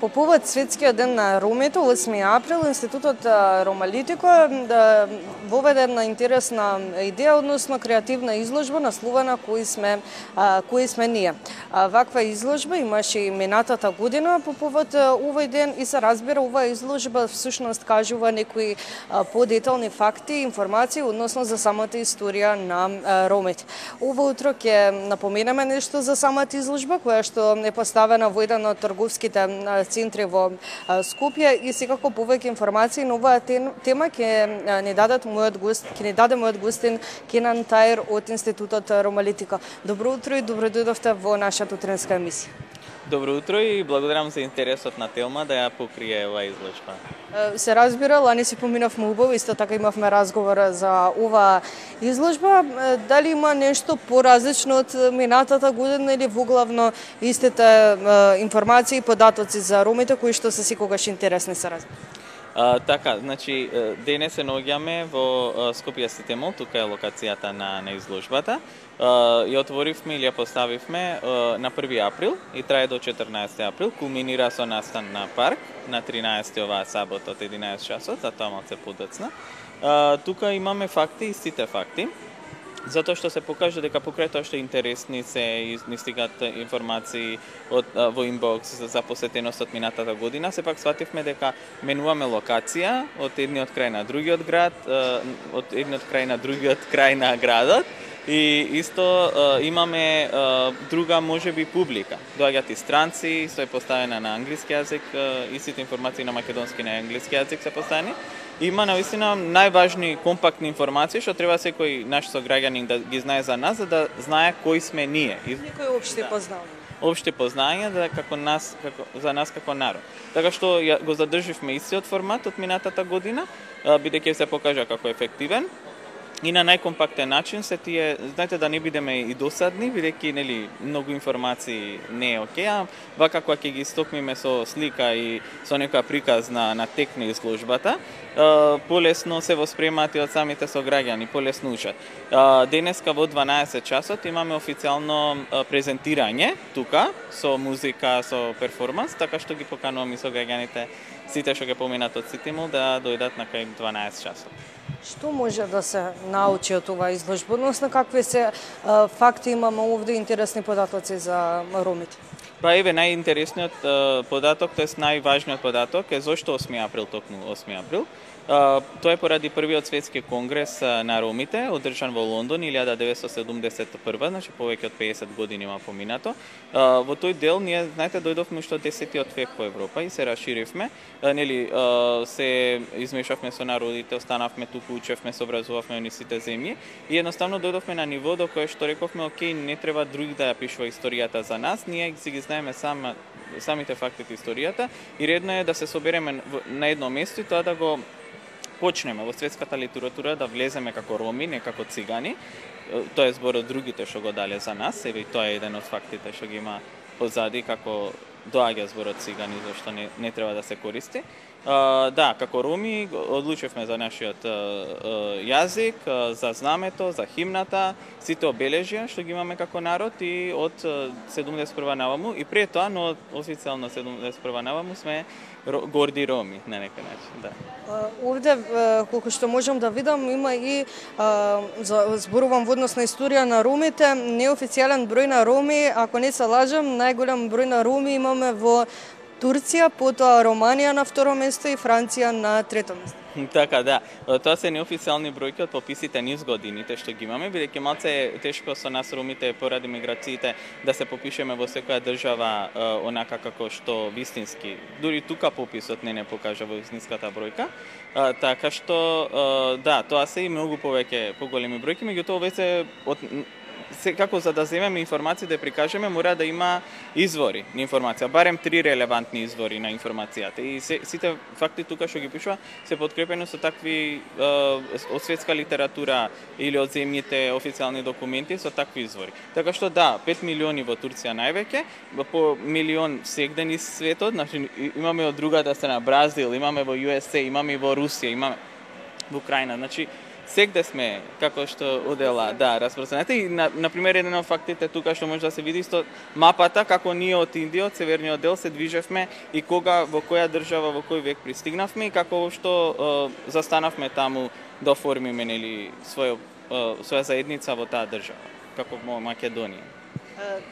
По повод Светскиот ден на ромите, 8 април, Институтот Ромалитико воведе една интересна идеја, односно креативна изложба насловена кои сме ние. Ваква изложба имаше и минатата година по повод овој ден и се разбира оваа изложба всушност кажува некои подетални факти и информации односно за самата историја на ромите. Ова утро ќе напоменеме нешто за самата изложба која што е поставена во еден од трговските центри во Скопје и секако повеќе информации на оваа тема ќе ни даде мојот гостин Кенан Таир од Институтот Ромалитико. Добро утро и добро дојдовте во нашата утренска емисија. Добро утро и благодарам за интересот на тема да ја покрие оваа изложба. Се разбира, лани си поминавме убаво, исто така имавме разговор за оваа изложба. Дали има нешто поразлично од минатата година или воглавно истите информации и податоци за ромите кои што се секогаш интересни се разбира? Така, значи, денес се наоѓаме во Скопје Сити Мол, тука е локацијата на изложбата. Ја отворивме или ја поставивме на 1 април и трае до 14 април. Кулминира со настан на парк на 13 оваа сабота од 11 часот, затоа малце подоцна. Тука имаме факти, истите факти, затоа што се покажа дека покрај тоа што интересни се стигат информации во инбокс за посетеност од минатата година, сепак свативме дека менуваме локација од едниот крај на другиот град, од едниот крај на другиот крај на градот. И исто имаме друга можеби публика. Доаѓаат и странци, се поставена на англиски јазик, истите информации на македонски и на англиски јазик се поставени. Има навистина најважни компактни информации што треба секој наш сограѓанин да ги знае за нас, за да знае кои сме ние. Некои општи познања. Општи познања за нас како народ. Така што го задрживме истиот формат од минатата година, бидејќи се покажа како ефективен. И на најкомпактен начин се тие, знаете да не бидеме и досадни, бидејќи нели многу информации не е окей, а вака кога ќе ги стокмиме со слика и со некоја приказ на тек на изложбата, полесно се воспремаат и од самите сограѓани, полесно учат. Денеска во 12 часот имаме официјално презентирање тука со музика, со перформанс, така што ги покануваме сограѓаните сите што ќе поминат од Сити Мол да дојдат на кај 12 часот. Што може да се научи од оваа изложба, односно какви се факти имаме овде интересни податоци за ромите? Па еве најинтересниот податок, тоест најважниот податок е зошто 8 април токму 8 април. Тоа е поради првиот светски конгрес на ромите, одржан во Лондон 1971, значи повеќе од 50 години има поминато. Во тој дел ние, знаете, дојдовме уште од 10-тиот век во Европа и се расширивме, нели се измешавме со народите, останавме туку, учевме, се образувавме во сите земји и едноставно дојдовме на ниво до кое што рековме, окей, не треба друг да ја пишува историјата за нас, ние си ги знаеме самите фактите историјата и редно е да се собереме на едно место и тоа да го почнеме во светската литература да влеземе како роми, не како цигани. Тоа е збор од другите што го дале за нас, еве и тоа е еден од фактите што ги има позади како доаѓа зборот цигани, зашто не треба да се користи. Да, како роми одлучивме за нашиот јазик, за знамето, за химната, сите обележја што ги имаме како народ и од 71 наваму и пред тоа, но официјално 71 наваму сме горди роми на некој начин, да. Овде, колку што можам да видам, има и зборувам во однос на историја на ромите, неофицијален број на роми, ако не се лажам, најголем број на роми имаме во Турција, потоа Романија на второ место и Франција на трето место. Така, да. Тоа се неофицијални бројки од пописите низ годините што ги имаме, бидејќи малце е тешко со нас ромите поради миграциите да се попишеме во секоја држава онака како што вистински. Дури тука пописот не покажа во вистинската бројка. Така што да, тоа се и многу повеќе поголеми бројки, меѓутоа веќе како за да земеме информации да прикажеме, мора да има извори на информација, барем 3 релевантни извори на информацијата. И сите факти тука што ги пишува се подкрепени со такви од светска литература или од земјите официјални документи со такви извори. Така што да, 5 милиони во Турција највеќе, по милион сегде низ светот, значи имаме од другата страна Бразил, имаме во USA, имаме и во Русија, имаме во Украина, значи Сегде сме како што одела, да, распространете и на пример еден од фактите тука што може да се види исто мапата како ние од Индија, од северниот дел се движевме и кога во која држава во кој век пристигнавме и како што застанавме таму да оформиме нели своја заедница во таа држава, како во Македонија.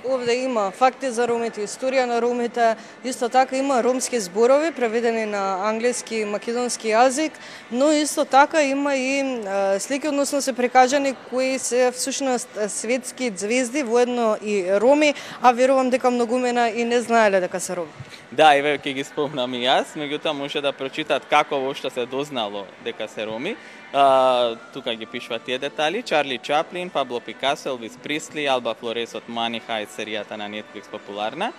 Овде има факти за ромите, историја на ромите, исто така има ромски зборови преведени на англиски и македонски јазик, но исто така има и слики, односно се прикажани кои се всушност светски звезди, воедно и роми, а верувам дека многумина и не знаеле дека се роми. Да, еве ќе ги спомнам и јас, меѓутоа може да прочитат како воопшто се дознало дека се роми. Тука ги пишуваат тие детали. Чарли Чаплин, Пабло Пикасо, Елвис Пресли, Алба Флорес од Money Heist, серијата на Netflix популарна.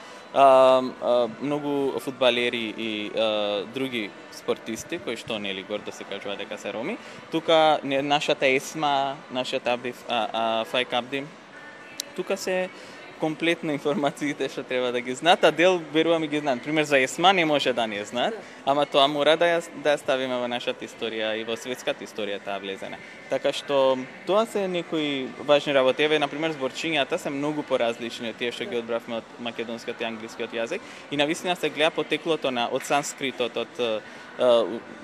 Многу фудбалери и други спортисти кои што нели гордо се кажува дека се роми. Тука нашата Есма, нашата Абди Фајк Абди. Тука се комплетно информациите што треба да ги знаат, а дел верувам и ги знаат. Пример за Есма не може да не знаат, ама тоа мора да ја ставиме во нашата историја и во светската историја таа влезена. Така што тоа се некои важни работи. Еве на пример зборчињата се многу поразлични од тие што ги одбравме од македонскиот и англискиот јазик и навистина се гледа потеклото од санскритот, од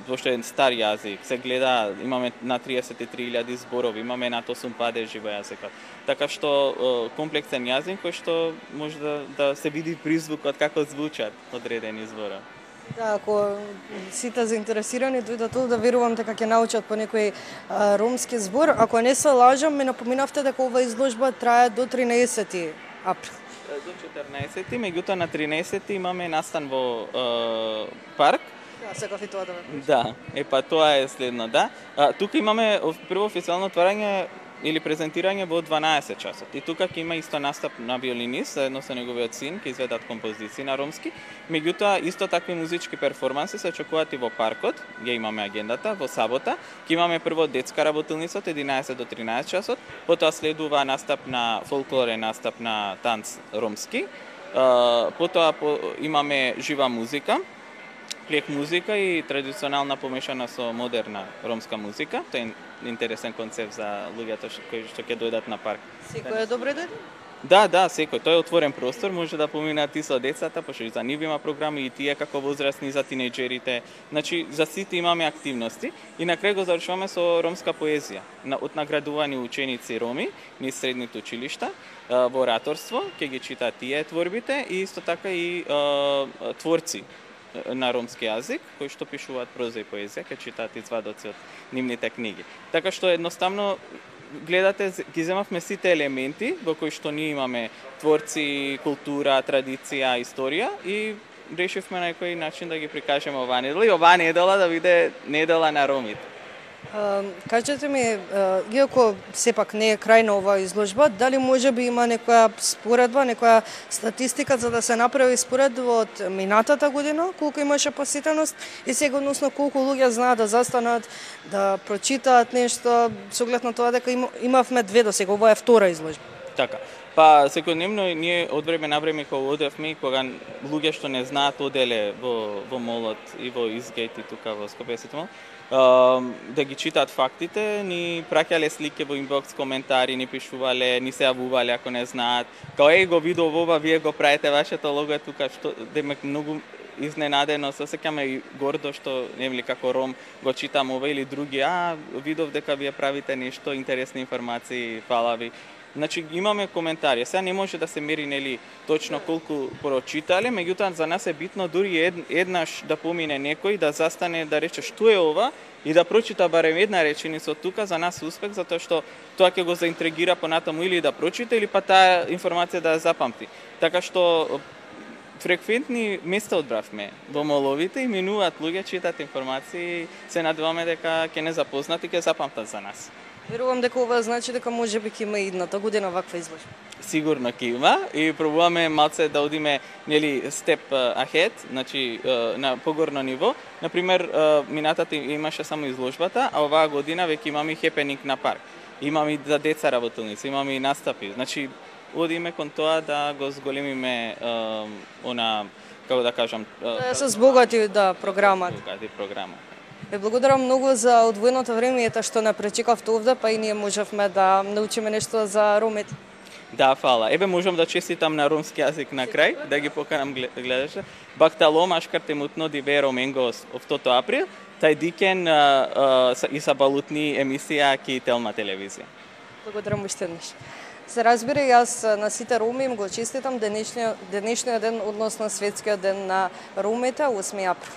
пошто е стар јазик, се гледа, имаме на 33.000 зборови, имаме над 8 падежи во јазикот. Така што комплексен јазик кој што може да се види призвукот како звучат одредени зборови. Да, ако сите заинтересирани дојдат тука, да верувам дека ќе научат по некој ромски збор. Ако не се лажам, ме напоминавте дека ова изложба трае до 13 април. До 14, меѓутоа на 13 имаме настан во парк. Да, секав и тоа да ме. Да, па тоа е следно, да. Тука имаме прво официјално отварање или презентирање во 12 часот. И тука ќе има исто настап на виолинист, заедно со неговиот син, ќе изведат композиции на ромски. Меѓутоа, исто такви музички перформанси се очекуваат и во паркот, ја имаме агендата, во сабота. Ќе имаме прво детска работилница од 11 до 13 часот, потоа следува настап на фолклорен настап на танц ромски. Потоа имаме жива музика, клек музика и традиционална помешана со модерна ромска музика. Тоа е интересен концепт за луѓето кои што ќе дојдат на парк. Секој е добре дојде? Да, секој. Тоа е отворен простор, може да поминат и со децата, пошто и за нив има програми и тие како возрастни, за тинејџерите. Значи, за сите имаме активности и на крај го завршуваме со ромска поезија. Од наградувани ученици роми низ средните училишта во ораторство, ќе ги читаат тие творбите и исто така и творци на ромски јазик, кои што пишуваат проза и поезија, ќе читаат извадоци од нивните книги. Така што едноставно гледате, ги земавме сите елементи во кои што ние имаме творци, култура, традиција, историја и решивме на некој начин да ги прикажеме оваа недела и оваа недела да биде недела на ромите. Кажете ми, иако сепак не е крај на оваа изложба, дали може би има некоја споредба, некоја статистика за да се направи споредба од минатата година, колку имаше посетеност и сега односно колку луѓе знаат да застанат, да прочитаат нешто, со оглед на тоа дека имавме две до сега, ова е втора изложба. Така. Па секојдневно ние од време на време кога одевме и кога луѓе што не знаат оделе во молот и во Изгейт и тука во Скопје Сити мол, да ги читаат фактите, ни праќале слики во инбокс, коментари, ни пишувале, ни се јавувале ако не знаат. Као го видов ова, вие го правите, вашето лого е тука, што демек многу изненадено се осеќаме и гордо што нели како ром го читам ова или други, видов дека вие правите нешто, интересни информации, фала ви. Значи имаме коментари. Сега не може да се мери нели точно колку прочитале, меѓутоа за нас е битно дури еднаш да помине некој да застане да рече што е ова и да прочита барем една реченица од тука, за нас успех, затоа што тоа ќе го заинтригира понатаму или да прочита или па таа информација да ја запамти. Така што фреквентни места одбравме во моловите и минуваат луѓе, читаат информации, се надеваме дека ќе не запознат и ќе запамтат за нас. Верувам дека ова значи дека може би ќе има идната година ваква изложба. Сигурно ќе има и пробуваме малце да одиме нели степ ahead, значи на погорно ниво. Например, минатата имаше само изложбата, а оваа година веќе имаме хепенинг на парк. Имаме и за деца работилници, имаме и настапи. Значи одиме кон тоа да го зголемиме како да кажам, се збогати програма. Збогати програма. Ве благодарам многу за одвоеното време ета што не пречекавте овде, па и ние можевме да научиме нешто за ромите. Да, фала. Ебе можам да честитам на ромски јазик на крај, да ги поканам гледачите. Бахталом ашкарте мутно ди ве роменго в тото април, тај дикен и са балутни емисија ки Телма телевизија. Благодарам уште еднаш. Се разбира, јас на сите роми им го честитам денешниот ден, односно светскиот ден на ромите, 8 април.